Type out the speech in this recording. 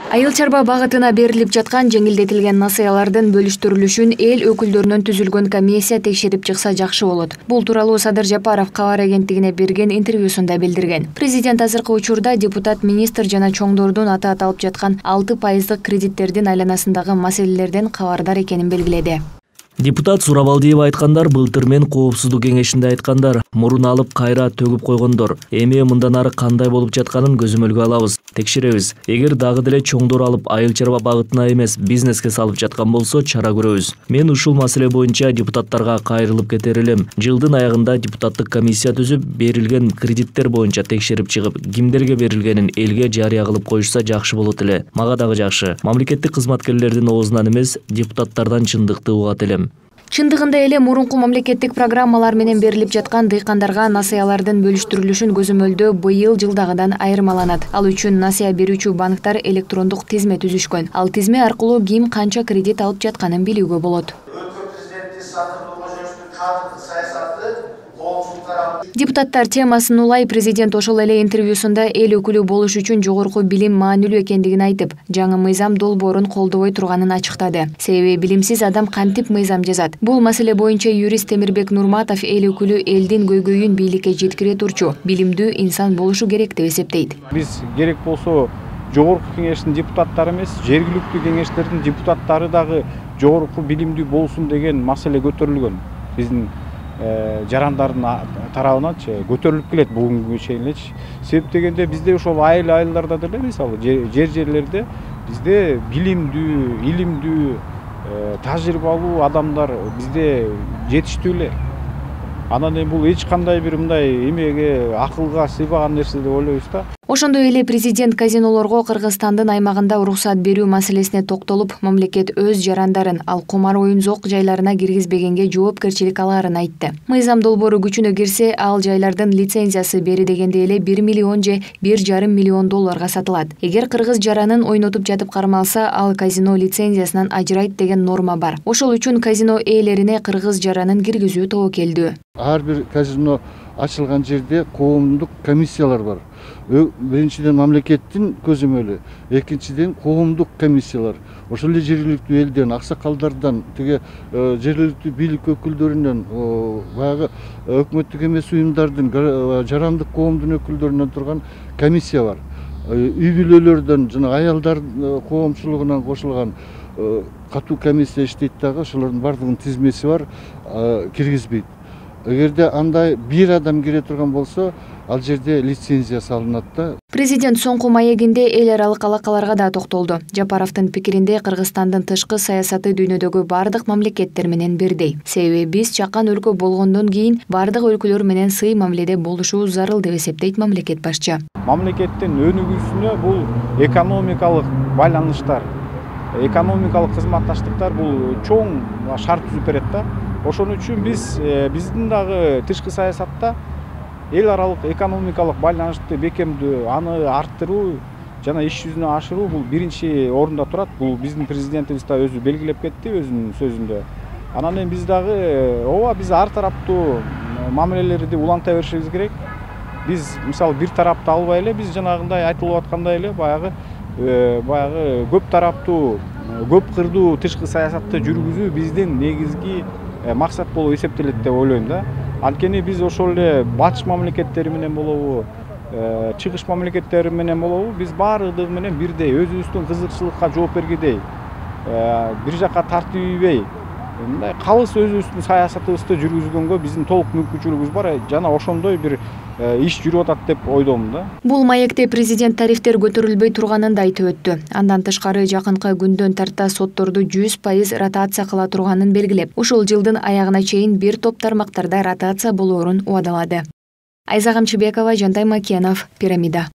Айыл чарба багытына берилип жаткан жеңилдетилген насыялардын бөлүштүрүлүшүн эл өкүлдөрүнөн түзүлгөн комиссия текшерип чыкса жакшы болот. Бул тууралуу Садыр Жапаров кабар агенттигине берген интервьюсунда билдирген. Президент азыркы учурда депутат, министр жана чоңдордун атаат алып жаткан 6% кредиттердин айланасындагы маселелерден кабардар экенин белгиледи. Депутат Сурабалдиева айткандар былтыр мен коопсуздук кеңешинде айткандар, мурун алып кайра төгүп койгондор. Эми мындан ары кандай болуп жатканын көзөмөлгө алабыз, текшеребиз. Эгер дагы деле чоңдор алып айыл чарба багытына эмес бизнеске салып жаткан болсо чара көрөбүз. Мен ушул маселе боюнча депутаттарга кайрылып кетер элем. Жылдын аягында депутаттык комиссия түзүп, берилген кредиттер боюнча текшерип чыгып, кимдерге берилгенин элге жарыя кылып коюшса жакшы болот эле. Мага дагы жакшы. Мамлекеттик кызматкерлердин оозунан эмес, депутаттардан чындыкты угат элем. Чындыгында эле мурунку мамлекеттик программалар менен берилип жаткан дыйкандарга насыялардын бөлүштүрүлүшүн көзөмөлдөө быйыл жылдагыдан айырмаланат. Ал үчүн насыя берүүчү банктар электрондук тизме түзүшкөн. Ал тизме аркылуу ким канча кредит алып жатканын билүүгө болот. Депутаттар темасын улай президент ошол эле интервьюсунда эл өкүлү болуш үчүн жогорку билим маанилүү экендигин айтып, жаңы мыйзам долбоорун колдобой турганын ачыктады. Себеби билимсиз адам кантип мыйзам жазат? Бул маселе боюнча юрист Темирбек Нурматов эл өкүлү элдин көйгөйүн бийликке жеткире турчу, билимдүү инсан болушу керек деп эсептейт. Биз керек болсо жогорку кеңештин депутаттары эмес, жергиликтүү кеңештердин депутаттары дагы жогорку билимдүү болсун деген маселе көтөрүлгөн. Биздин жарандардын тарабынан көтөрүлүп келет бүгүнгү чейинчи. Себеп дегенде бизде ошол айылдарда деле, мисалы жерлерде бизде билимдүү, илимдүү, тажрыйбалуу адамдар бизде жетиштүү эле. Анан бул эч кандай бир мындай эмеге, акылга сыйбаган нерсе деп ойлойбуз да. Ошондой эле президент казинолорго Кыргызстандын аймагында уруксат берүү маселесине токтолуп, мамлекет өз жарандарын ал кумар оюн-зоок жайларына киргизбегенге жоопкерчилик алаарын айтты. Мыйзам долбоору күчүнө кирсе, ал жайлардын лицензиясы бери дегенде эле 1 миллион же 1,5 миллион долларга сатылат. Эгер кыргыз жаранын ойнотуп жатып кармалса, ал казино лицензиясынан ажырайт деген норма бар. Ошол үчүн казино ээлерине кыргыз жаранын киргизүү тобокелдүү. Ар бир казино ачылган жерде коомдук комиссиялар бар. Биринчиден мамлекеттин көзөмөлү, экинчиден коомдук комиссиялар. Ошол эле жергиликтүү элден, аксакалдардан, теге жергиликтүү бийлик өкүлдөрүнөн, баягы өкмөттүк эмес уюмдардын, жарандык коомдун өкүлдөрүнөн турган комиссия бар. Үй бүлөлөрдөн жана аялдар коомчулугунан кошулган катуу комиссия иштейт дагы, ошолордун бардыгынын тизмеси бар, киргизбейт. Эгерде андай бир адам кире турган болсо, ал жерде лицензия салынат да. Президент соңку маегинде эл аралык алакаларга да токтолду. Жапаровдун пикиринде Кыргызстандын тышкы саясаты дүйнөдөгү бардык мамлекеттер менен бирдей. Себеби биз чакан өлкө болгондон кийин бардык өлкөлөр менен сый мамиледе болушубуз зарыл деп эсептейт мамлекет башчы. Мамлекеттин өнүгүүсүнө бул экономикалык байланыштар, экономикалык кызматташтыктар бул чоң шарт түзүп берет да. Ошон үчүн биздин дагы тышкы саясатта эл аралык экономикалык байланышты бекемдөө, аны арттыруу жана иш жүзүнө ашыруу бул биринчи орунда турат. Бул биздин президентибиз да өзү белгилеп кетти өзүнүн сөзүндө. Анан эми биз дагы биз ар тараптуу мамилелерди уланта беришибиз керек. Биз мисалы бир тарапты албай эле, биз жанагындай айтылып аткандай эле баягы көп тараптуу, көп кырдуу тышкы саясатты жүргүзүү биздин негизги максат болуп эсептелет деп ойлойм да. Анткени биз ошол эле батыш мамлекеттери менен болобу, чыгыш мамлекеттери менен болобу, биз баардыгы менен бирдей, өзүбүздүн кызыкчылыкка жооп бергидей, бир жака тартибейбей, мындай калыс өзүбүздүн саясатыбызды жүргүзгөнгө биздин толук мүмкүнчүлүгүбүз бар жана ошондой бир иш жүрүп атат деп ойдомун да. Бул маекте президент тарифтер көтөрүлбөй турганын да айтып өттү. Андан тышкары жакынкы күндөн тарта сотторду 100% ротация кыла турганын белгилеп, ушул жылдын аягына чейин бир топ тармактарда ротация болоорун убадалады. Айза Камчыбекова, Жантай Макенов, Пирамида.